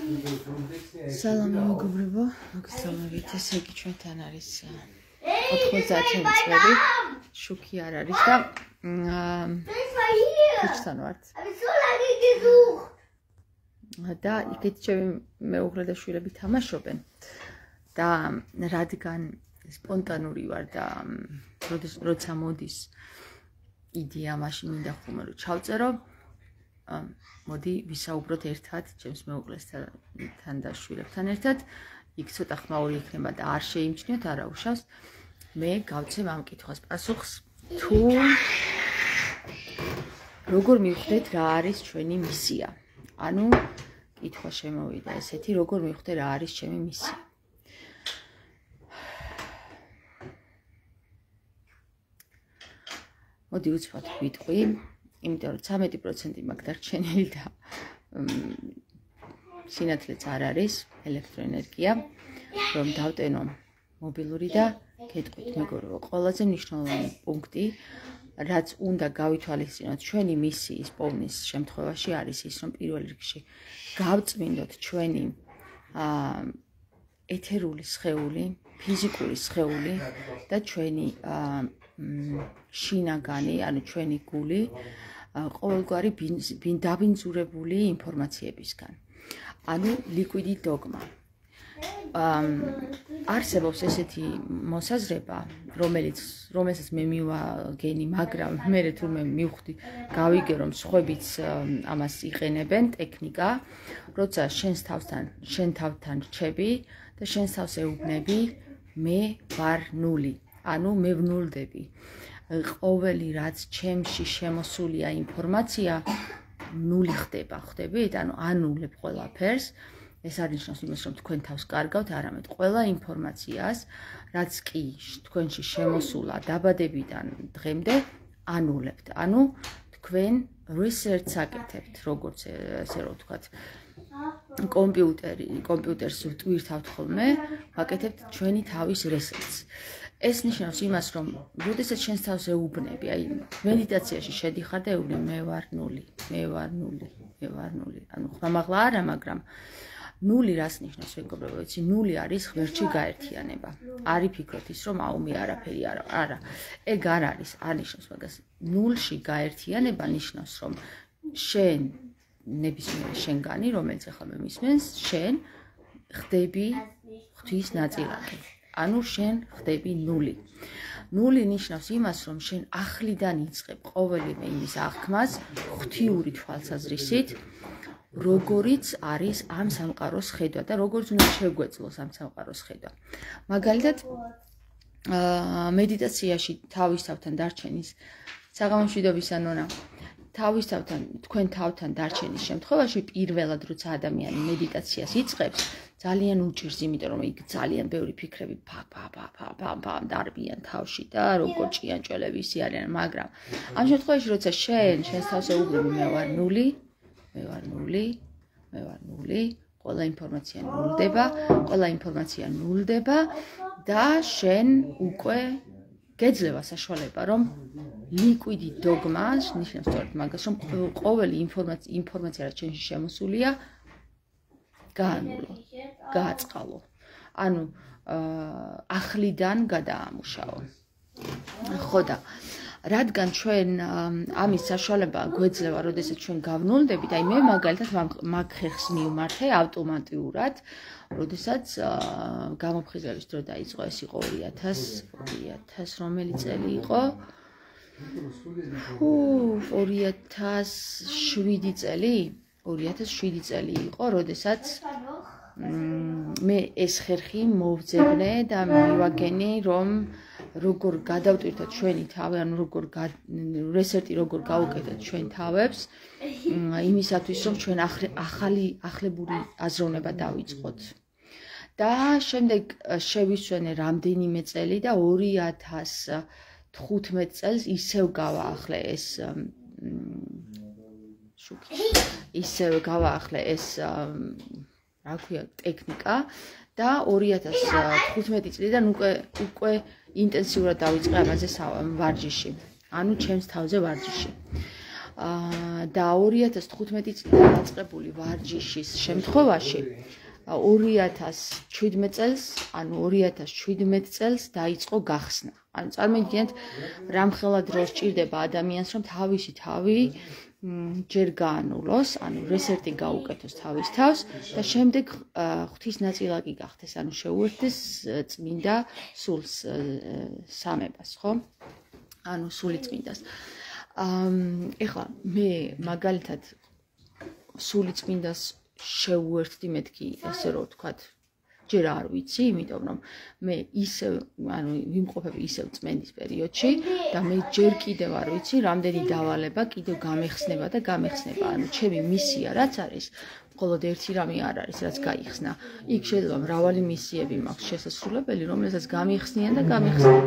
სალამი მეგობრებო, მოგესალმებით. ესე იგი ჩვენთან არის 90 წელი, შუქი არ არის და ფიჩთან ვართ. და იქით ჩემი მეუღლე და შვილები თამაშობენ და რადგან სპონტანური ვარ და როცა მოდის იდეა მაშინ მინდა ხომ რომ ჩავწერო, მოდი ვისაუბროთ ერთად ჩემს მეუღლესთან და შვილებთან ერთად. იქ ცოტა ხმაური იქნება და არ შეიმჩნიოთ, არა უშავს. მე გავცემ ამ კითხვას პასუხს, თუ როგორ მივხვდეთ რა არის ჩვენი მისია. ანუ კითხვა შემოვიდა ესეთი, როგორ მივხვდე რა არის ჩემი მისია. მოდი უცბად ვიტყვი, იმიტომ რომ 13% მაქვს დარჩენილი და სინათლეც არ არის, ელექტროენერგია, რომ დავტენო მობილური და გეტყვით მეგობრებო, ყველაზე მნიშვნელოვანი პუნქტი, რაც უნდა გავითვალისწინოთ ჩვენი მისიის პოვნის შემთხვევაში არის ის, რომ პირველ რიგში გავწმინდოთ ჩვენი ეთერული სხეული, ფიზიკური სხეული და ჩვენი შინაგანი, ანუ ჩვენი გული ყოველგვარი დაბინძურებული ინფორმაციებისგან. ანუ ლიკვიდი დოგმა. არსებობს ესეთი მოსაზრება, რომელსაც მე მივაგენი, მაგრამ მე თურმე მივხვდი, გავიგე რომ სხვაებიც ამას იყენებენ, ტექნიკა, როცა შენ თავთან რჩები და შენს თავს ეუბნები, მე ვარ ნული, ანუ მე ვნულდები. ყოველი რაც ჩემში შემოსულია ინფორმაცია ნული ხდება, ხვდებით? ანუ ანულებ ყველაფერს. ეს არ ნიშნავს იმას, რომ თქვენ თავს კარგავთ, არამედ ყველა ინფორმაციას, რაც კი თქვენში შემოსულა დაბადებიდან დღემდე, ანულებთ. ანუ თქვენ research აკეთებთ, როგორც ესე რომ ვთქვათ, კომპიუტერს ვტვირთავთ ხოლმე, ვაკეთებთ ჩვენი თავის research. ეს ნიშნავს იმას, რომ როდესაც შენს თავს ეუბნები, აი მედიტაციაში შედიხარ და ეუბნები, მე ვარ ნული, მე ვარ ნული, მე ვარ ნული. ანუ ხმამაღლა არა, მაგრამ ნული რას ნიშნავს, მეგობრებო, ვიცი, ნული არის ღმერთში გაერთიანება. არ იფიქროთ ის, რომ აუმი არაფერი არა. ეგ არ არის, არ ნიშნავს მაგას. ნულში გაერთიანება ნიშნავს, რომ შენ ნებისმიერი შენგანი, რომელიც ახლა მე მისმენს, შენ ხდები ღვთის ნაწილაკი. ანუ შენ ხდები ნული. ნული ნიშნავს იმას, რომ შენ ახლიდან იწყებ ყოველივე იმის აღქმას ღვთიური თვალსაზრისით, როგორიც არის ამ სამყაროს ხედვა და როგორც უნდა შეგვეძლოს ამ სამყაროს ხედვა. მაგალითად, მედიტაციაში თავისთავთან დარჩენის საღამომშვიდობის ანონა თქვენ თავთან დარჩენის შემთხვევაში პირველად როცა ადამიანი მედიტაციას იწყებს, ძალიან უჭირს, იმიტომ რომ იქ ძალიან ბევრი ფიქრები დარბიან თავში და როგორ ჭიანჭველები ისი არიან, მაგრამ ამ შემთხვევაში როცა შენს თავს ეუბნები, მე ვარ ნული, ყველა ინფორმაცია ნულდება და შენ უკვე გეძლევა საშუალება, რომ ლიკვიდი დოგმა ნიშნავს სწორედ მაგას, რომ ყოველი ინფორმაცია, რაც შენში შემოსულია, გაანულო, გააწყალო. ანუ ახლიდან გადაამუშავო. ხო და რადგან ჩვენ ამის საშუალება გვეძლევა, როდესაც ჩვენ გავნულდებით, აი მე მაგალითად მაგ ხერხს მივმართე ავტომატურად, როდესაც გამოფხიზელის დრო დაიწყო, ეს იყო 2000 რომელი წელი იყო? 2007 წელი? 2007 წელი იყო, როდესაც მე ეს ხერხი მოვძებნე და მივაგენი, რომ როგორ გადავტვირთოთ ჩვენი თავი, ანუ რესეტი როგორ გავუკეთოთ ჩვენ თავებს, იმისათვის, რომ ჩვენ ახლებური აზროვნება დავიწყოთ. და შემდეგ შევისვენე რამდენიმე წელი და 2015 წელს ისევ გავაახლე ეს რა ქვია, ტექნიკა და 2015 წლიდან უკვე ინტენსიურად დავიწყე ამაზე ვარჯიში. ანუ ჩემს თავზე ვარჯიში. და 2015 წლიდან დაწყებული ვარჯიშის შემთხვევაში 2017 წელს, ანუ 2017 წელს დაიწყო გახსნა. ანუ წარმოგიდგენთ, რამხელა დრო სჭირდება ადამიანს, რომ თავისი თავი ჯერ გაანულოს, ანუ რესეტი გაუკეთოს თავის თავს და შემდეგ ღვთისნაწილაკი გახდეს, ანუ შეუერთდეს წმინდა სულს სამებას, ხო? ანუ სულიწმინდას. ეხლა მე მაგალითად სულიწმინდას შევუერთდი მეთქი, ესე რომ ვთქვათ, ჯერ არ ვიცი, იმიტომ რომ მე ისევ, ანუ ვიმყოფები ისევ წმენდის პერიოდში და მე ჯერ კიდევ არ ვიცი, რამდენი დავალება კიდევ გამეხსნება და გამეხსნება. ანუ ჩემი მისია რაც არის, მხოლოდ ერთი რამე არ არის, რაც გაიხსნა. იქ შეიძლება მრავალი მისიები მაქვს შესასრულებელი, რომელსაც გამიხსნიან და გამეხსნიან.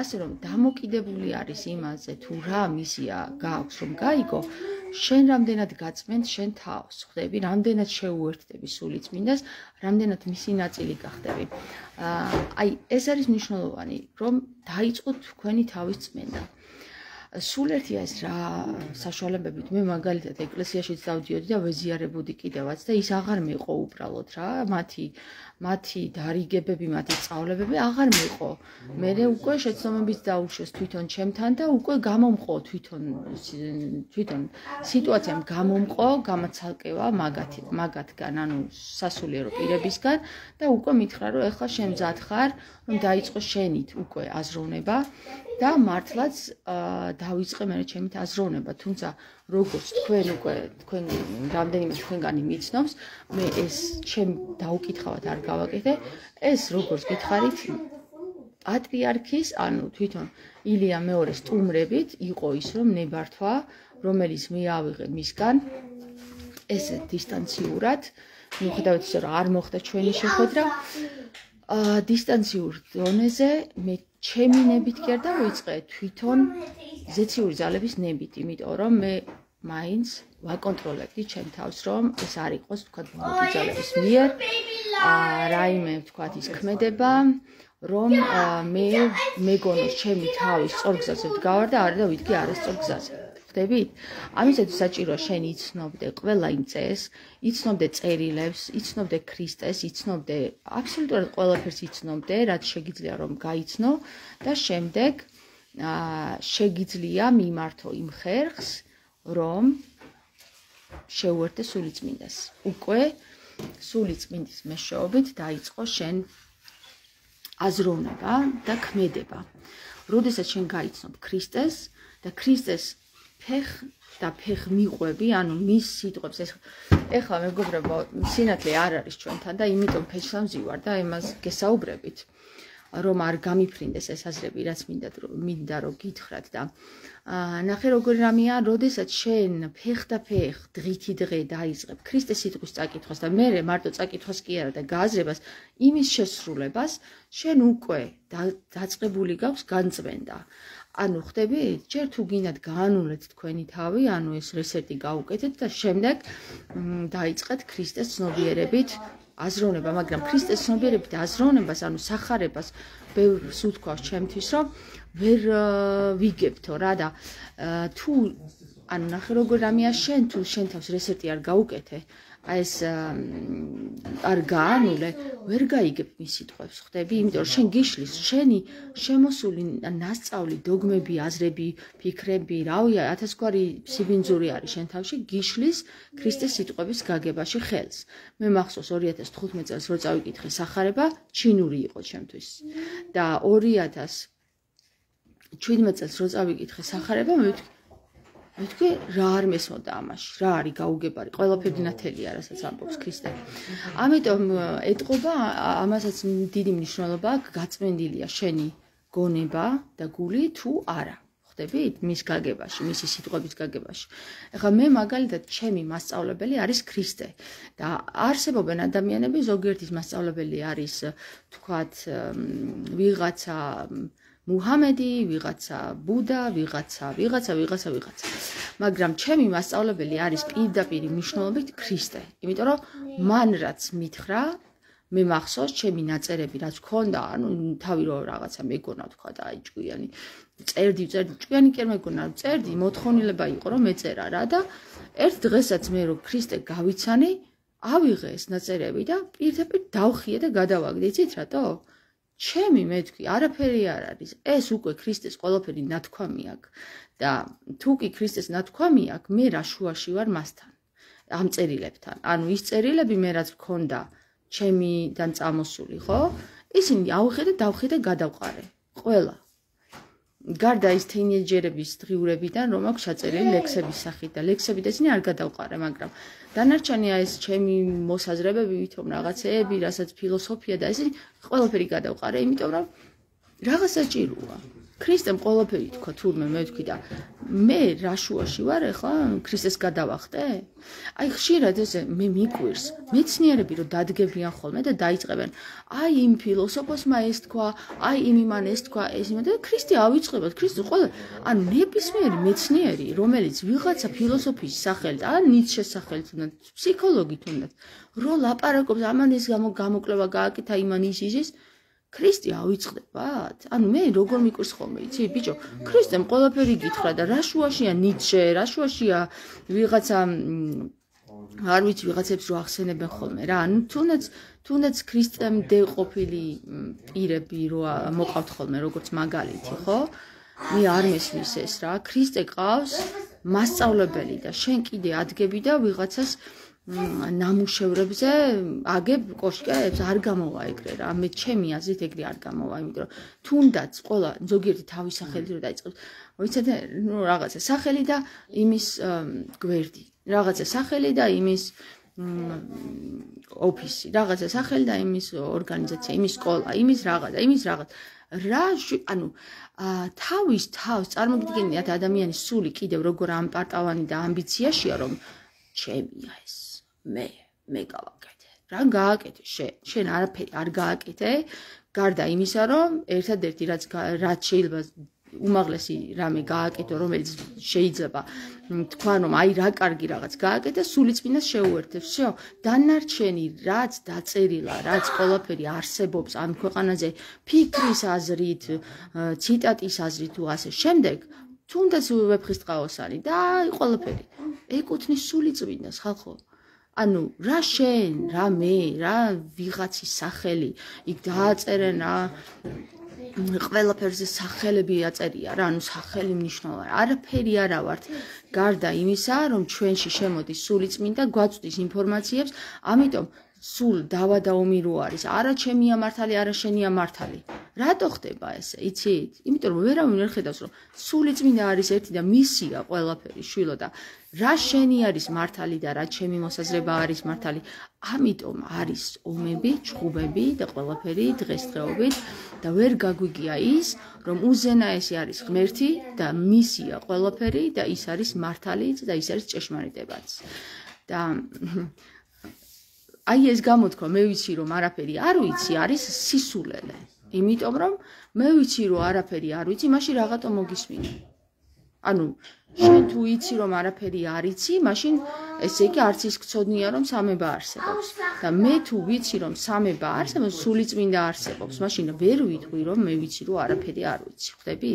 ასე რომ დამოკიდებული არის იმაზე, თუ რა მისია გააქვს რომ გაიგო, შენ რამდენად გაწმენთ შენ თავს, ხვდები, რამდენად შეუერთდები სულიწმინდას, რამდენად მისი ნაწილი გახდები. აი, ეს არის მნიშვნელოვანი, რომ დაიწყოთ თქვენი თავის წმენდა. სულ ერთია ეს რა საშუალებებით მე მაგალითად ეკლესიაშიც დავდიოდი და ვეზიარებოდი კიდევაც და ის აღარ მეყო უბრალოდ რა, მათი დარიგებები, მათი სწავლებები აღარ მეყო. მე უკვე შეცდომებით დაუშვეს თვითონ ჩემთან და უკვე გამომყო თვითონ სიტუაციამ გამომყო გამაცალკევა მაგათგან, ანუ სასულიერო პირებისგან და უკვე მითხრა, რომ ეხლა შენ მზად ხარ, რომ დაიწყო შენით უკვე აზროვნება და მართლაც დავიწყე მე ჩემით აზროვნება, თუმცა როგორც თქვენ რამდენიმე თქვენგანი მიცნობს, მე ეს ჩემ დაუკითხავად არ გავაკეთე, ეს როგორც გითხარით პატრიარქის, ანუ თვითონ ილია მეორის სტუმრებით იყო ის, რომ ნებართვა, რომელიც მე ავიღე მისგან, ესე დისტანციურად, მიუხედავად ისე, რომ არ მოხდა ჩვენი შეხვედრა, დისტანციურ დონეზე მე ჩემი ნებით კი არ დავიწყე, თვითონ ზეციური ძალების ნებით, იმიტომ რომ მე მაინც ვაკონტროლებდი ჩემ თავს, რომ ეს არ იყოს, თქვათ, ბუნებრივი ძალების მიერ, რაიმე, თქვათ, ის ქმედება, რომ მე მეგონოს ჩემი თავის სწორ გზაზე ვდგავარ და არა და ვიდგე არასწორ გზაზე. ხვდებით? ამისათვის საჭიროა შენ იცნობდე ყველა იმ წესს, იცნობდე წერილებს, იცნობდე ქრისტეს, იცნობდე აბსოლუტურად ყველაფერს იცნობდე, რაც შეგიძლია რომ გაიცნო და შემდეგ შეგიძლია მიმართო იმ ხერხს, რომ შეუერთდე სულიწმინდას. უკვე სულიწმინდის მეშვეობით დაიწყო შენ აზროვნება და ქმედება. როდესაც შენ გაიცნობ ქრისტეს და ქრისტეს ფეხ მიყვები, ანუ მის სიტყვებს, ეხლა მეგობრებო, სინათლე არ არის ჩვენთან და იმიტომ ფეჩლა მზივარ და იმას გესაუბრებით, რომ არ გამიფრინდეს ეს აზრები, რაც მინდა რომ გითხრათ და ნახე როგორი რამეა, როდესაც შენ ფეხ დღითი დღე დაიწყებ ქრისტეს სიტყვის წაკითხვას და მე მარტო წაკითხვას კი არა და გააზრებას იმის შესრულებას, შენ უკვე დაწყებული გაქვს განწმენდა. ანუ ხვდები, ჯერ თუ გინდათ გაანულეთ თქვენი თავი, ანუ ეს რესეტი გაუკეთეთ და შემდეგ დაიწყეთ ქრისტეს ცნობიერებით აზროვნება, მაგრამ ქრისტეს ცნობიერებით აზროვნებას, ანუ სახარებას ბევრს უთქვავს ჩემთვის, რომ ვერ ვიგებთო რა და თუ ანუ ნახე როგორ რამეა შენ თუ შენ თავს რესეტი არ გაუკეთე, აი ეს არ გაანულე, ვერ გაიგებ მის სიტყვებს, ხვდები? იმიტომ რომ შენ გიშლის, შენი შემოსული ნასწავლი, დოგმები, აზრები, ფიქრები, რავია, 1000 გვარი სიბინძური არის შენ თავში, გიშლის ქრისტეს სიტყვების გაგებაში ხელს. მე მახსოვს 2015 წელს რო წავიკითხე სახარება, ჩინური იყო ჩემთვის. და 2017 წელს რო წავიკითხე სახარება, მეთქი რა არ მესმოდა ამაში, რა არის გაუგებარი, ყველაფერი ნათელია, რასაც ამბობს ქრისტე. ამიტომ ეტყობა, ამასაც დიდი მნიშვნელობა აქვს, გაწმენდილია შენი გონება და გული თუ არა. ხვდებით? მის გაგებაში, მისი სიტყვების გაგებაში. ეხლა მე მაგალითად ჩემი მასწავლებელი არის ქრისტე და არსებობენ ადამიანები, ზოგიერთის მასწავლებელი არის, თქვათ, ვიღაცა მუჰამედი, ვიღაცა ბუდა, ვიღაცა. მაგრამ ჩემი მასწავლებელი არის პირდაპირ მნიშვნელობით ქრისტე. იმიტომ რომ მან რაც მითხრა, მე მახსოვს ჩემი ნაწერები რაც მქონდა, ანუ თავი რო რაღაცა მეგონა თქვა და აი ჭკვიანი წერდი, ჭკვიანი კი არ მეგონა, წერდი, მოთხოვნილება იყო რომ მეწერა რა და ერთ დღესაც მე რო ქრისტე გავიცანი, ავიღე ეს ნაწერები და პირდაპირ დავხიე და გადავაგდე, იცით რატო? ჩემი მეთქვი, არაფერი არ არის. ეს უკვე ქრისტეს ყველაფერი ნათქვამი აქვს და თუ კი ქრისტეს ნათქვამი აქვს, მე რა შუაში ვარ მასთან. ამ წერილებთან. ანუ ის წერილები მე რაც მქონდა ჩემიდან წამოსული, ხო? ისინი ავიღე და დავხიე და გადავყარე. ყველა. გარდა ის თინეიჯერების დღიურებიდან, რომ აქვს ჩაწერილი ლექსების სახით და ლექსები და ისინი არ გადავყარე, მაგრამ დანარჩენია ეს ჩემი მოსაზრებები, ვითომ რაღაცეები, რასაც ფილოსოფია და ისინი ყველაფერი გადავყარე, იმიტომ რომ რაღაც საჭიროა. ქრისტემ ყველაფერი თქვა, თურმე მე ვთქვი და მე რა შუაში ვარ ახლა ქრისტეს გადავახტე? აი ხშირად ესე მე მიკვირს, მეცნიერები რომ დადგებიან ხოლმე და დაიწყებენ, აი იმ ფილოსოფოსმა ეს თქვა, აი იმ იმან ეს თქვა, ეს იმან და ქრისტე ავიწყებოთ, ქრისტე ყველა, ანუ ნებისმიერი მეცნიერი, რომელიც ვიღაცა ფილოსოფიის სახელით, ან ნიცშეს სახელით უნდა, ფსიქოლოგი თუნდაც, რო ლაპარაკობს, ამან ეს გამოკვლევა გააკეთა, იმან ის ქრისტე ავიწყდებათ? ანუ მე როგორ მიკვირს ხოლმე, იცი, ბიჭო, ქრისტემ ყველაფერი გითხრა და რა შუაშია ნიცშე, რა შუაშია ვიღაცა არ ვიცი ვიღაცებს რო ახსენებენ ხოლმე რა, ანუ თუნდაც ქრისტემდე ყოფილი პირები რო მოყავთ ხოლმე როგორც მაგალითი, ხო? მე არ მესმის ეს რა, ქრისტე ყავს მასწავლებელი და შენ კიდე ადგები და ვიღაცას ნამუშევრებზე აგებ კოშკებს არ გამოვა ეგრე რა მე ჩემი აზრით ეგრე არ გამოვა იმიტომ რომ თუნდაც ყველა ზოგიერთი თავის სახელით რო დაიწყებს ვიცით ნუ რაღაცა სახელი და იმის გვერდი რაღაცა სახელი და იმის ოფისი რაღაცა სახელი და იმის ორგანიზაცია იმის სკოლა იმის რაღაცა რა ანუ თავის თავს წარმოგიდგენიათ ადამიანის სული კიდევ როგორ ამპარტავანი და ამბიციაშია რომ ჩემია ეს მე გავაკეთე. რა გააკეთე შენ არაფერი არ გააკეთე, გარდა იმისა, რომ ერთადერთი რაც შეიძლება უმაღლესი რამე გააკეთო, რომელიც შეიძლება თქვა, რომ აი რა კარგი რაღაც გააკეთე, სულიწმინდას შეუერთებს. всё, დანარჩენი რაც დაწერილა, რაც ყველაფერი არსებობს ამ ქვეყანაზე, ფიქრის აზრით, ციტატის აზრით თუ ასე შემდეგ, თუნდაც ვეფხისტყაოსანი და აი ყველაფერი ეკუთვნის სულიწმინდას ხალხო. ანუ რა შენ, რა მე, რა ვიღაცის სახელი, იქ დააწერენ რა ყველაფერზე სახელები აწერია რა, ანუ სახელი მნიშვნელოვანი. არაფერი არა ვართ, გარდა იმისა, რომ ჩვენში შემოდის სულიწმინდა, გვაწვდის ინფორმაციებს, ამიტომ სულ დავა და ომი რო არის, არა ჩემია მართალი, არა შენია მართალი. რატო ხდება ესე, იცით? იმიტომ რომ ვერავინ ვერ ხედავს, რომ სულიწმინდა არის ერთი და მისია ყველაფერი შვილო და რა შენი არის მართალი და რა ჩემი მოსაზრება არის მართალი. ამიტომ არის ომები, ჩხუბები და ყველაფერი დღესდღეობით და ვერ გაგვიგია ის, რომ უზენაესი არის ღმერთი და მისია ყველაფერი და ის არის მართალი და ის არის ჭეშმარიტებაც. და აი ეს გამოთქვა მე ვიცი რომ არაფერი არ ვიცი არის სისულელე. იმიტომ რომ მე ვიცი რომ არაფერი არ ვიცი, მაშინ რაღაცა მოგისმინე. ანუ შენ თუ იცი რომ არაფერი არ იცი, მაშინ ესე იგი არც ის გწოდნია რომ სამება არსებობს. და მე თუ ვიცი რომ სამება არსებობს, სულიწმინდა არსებობს, მაშინ ვერ ვიტყვი რომ მე ვიცი რომ არაფერი არ ვიცი. ხვდები?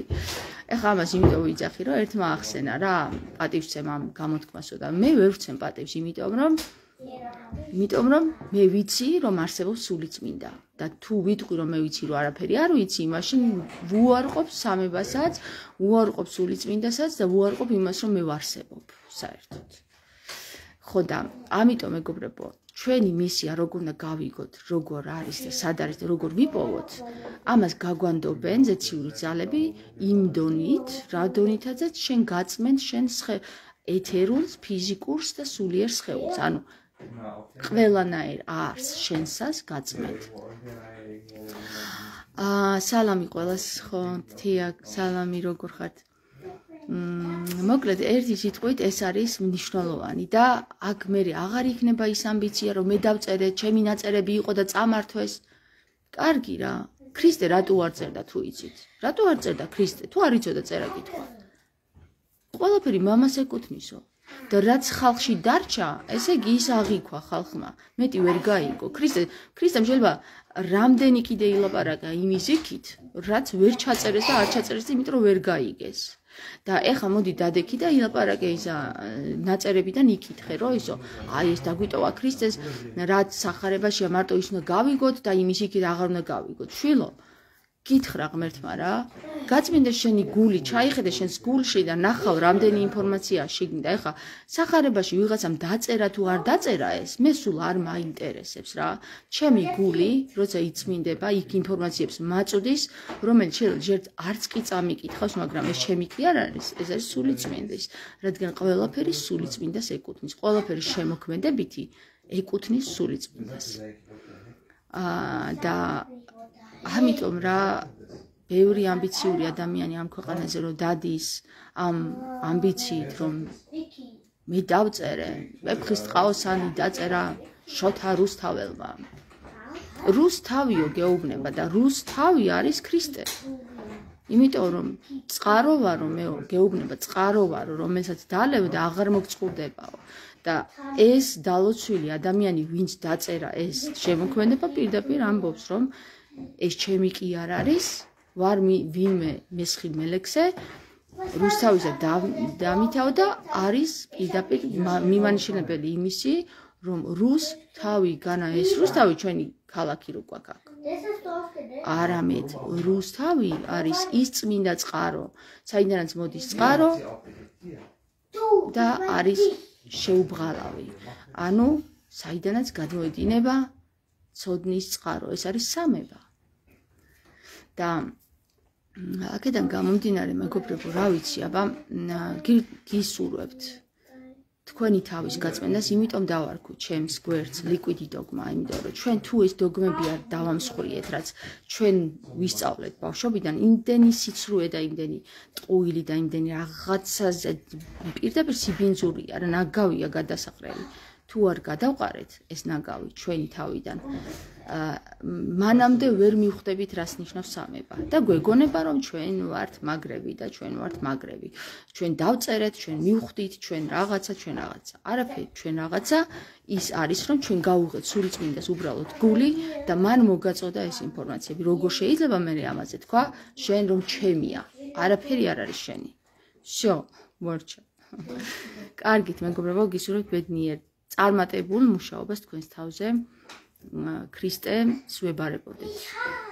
ეხლა ამას იმიტომ ვიძახი რომ ერთმა ახსენა რა, პატივცემ ამ გამოთქმასო და მე ვერ ვცემ პატივს, იმიტომ რომ მე ვიცი რომ არსებობს სულიწმინდა და თუ ვიტყვი რომ მე ვიცი რომ არაფერი არ ვიცი, მაშინ ვუარყოფ სამებასაც, ვუარყოფ სულიწმინდასაც და ვუარყოფ იმას რომ მე ვარსებობ საერთოდ. ხო და ამიტომ მეგობრებო, ჩვენი მისია როგორ უნდა გავიგოთ, როგორ არის და სად არის და როგორ ვიპოვოთ, ამას გაგვანდობენ ზეციური ძალები იმ დონით, რა დონითაც შენ გაწმენ შენ ეთერულს, ფიზიკურს და სულიერ სხეულს, ანუ ყველანაირ არს შენსას გაწმენთ. სალამი ყველას, ხო, თია, სალამი, როგორ ხართ? მოკლედ, ერთი სიტყვით ეს არის მნიშვნელოვანი და აქ მე აღარ იქნება ის ამბიცია, რომ მე დავწერე, ჩემი ნაწერები იყო და წამართვეს. კარგი რა, ქრისტე რატო არ წერდა თუ იცით? რატო არ წერდა ქრისტე? თუ არ იცოდა წერა-კითხვა? ყველაფერი მამას ეკუთვნისო. და რაც ხალხში დარჩა, ესე იგი ის აღიქვა ხალხმა. მეტი ვერ გაიგო. ქრისტემ შეიძლება რამდენი კიდე ილაპარაკა იმის იქით, რაც ვერ ჩაწერეს და არ ჩაწერეს, იმიტომ რომ ვერ გაიგეს. და ეხა მოდი დადექი და ილაპარაკე ისა ნაწერებიდან იკითხე, რომ ისო, აი ეს დაგვიტოვა ქრისტეს, რაც სახარებაშია მარტო ის უნდა გავიგოთ და იმის იქით აღარ უნდა გავიგოთ. შვილო, გითხრა ღმერთმა რა, გაწმინდა შენი გული, ჩაიხედე შენს გულში და ნახავ რამდენი ინფორმაცია შიგნით. და ეხა სახარებაში ვიღაცამ დაწერა თუ არ დაწერა ეს, მე სულ არ მაინტერესებს რა. ჩემი გული, როცა იწმინდება, იქ ინფორმაციებს მაწვდის, რომელიც ჯერ არც კი წამიკითხავს, მაგრამ ეს ჩემი კი არ არის, ეს არის სულიწმინდის, რადგან ყველაფერი სულიწმინდას ეკუთვნის, ყველაფერი შემოქმედებითი ეკუთვნის სულიწმინდას. და ამიტომ რა ბევრი ამბიციური ადამიანი ამ ქვეყანაზე რომ დადის ამ ამბიციით რომ მე დავწერე ვეფხისტყაოსანი დაწერა შოთა რუსთაველმა. რუსთავიო გეუბნება და რუსთავი არის ქრისტე. იმიტომ რომ წყარო ვარო მეო გეუბნება წყარო ვარო რომელსაც დალევ და აღარ მოგწყურდებაო. და ეს დალოცვილი ადამიანი ვინც დაწერა ეს შემოქმედება პირდაპირ ამბობს რომ ეს ჩემი კი არ არის, ვარ ვინმე მესხი მელექსე, რუსთავისა დამითავ და არის პირდაპირ მიმანიშნებელი იმისი, რომ რუსთავი განა ეს რუსთავი ჩვენი ქალაქი რო გვაქვს. არამედ რუსთავი არის ის წმინდა წყარო, საიდანაც მოდის წყარო და არის შეუბღალავი. ანუ საიდანაც გადმოედინება ცოდნის წყარო, ეს არის სამება. და აქედან გამომდინარე მეგობრებო, რა ვიცი, აბა გისურვებთ თქვენი თავის გაწმენდას, იმიტომ დავარქვა ჩემს გვერდს ლიკვიდი დოგმა, იმიტომ რომ ჩვენ თუ ეს დოგმები არ დავამსხვრიეთ, რაც ჩვენ ვისწავლეთ ბავშვობიდან, იმდენი სიცრუე და იმდენი ტყუილი და იმდენი რაღაცაზე პირდაპირ სიბინძურია, რა ნაგავია გადასაყრელი. თუ არ გადავყარეთ ეს ნაგავი ჩვენი თავიდან, მანამდე ვერ მივხვდებით რას ნიშნავს სამება და გვეგონება რომ ჩვენ ვართ მაგრები და ჩვენ ვართ მაგრები. ჩვენ დავწერეთ, ჩვენ მივხვდით, ჩვენ რაღაცა. არაფერი ჩვენ რაღაცა ის არის რომ ჩვენ გავუღეთ სულიწმინდას უბრალოდ გული და მან მოგაწოდა ეს ინფორმაციები. როგორ შეიძლება მე ამაზე თქვა, შენ რომ ჩემია, არაფერი არ არის შენი. всё, მორჩა. კარგით, მეგობრებო, გისურვებთ ბედნიერ წარმატებულ მუშაობას თქვენს თავზე. ქრისტე სვებარებოდეთ.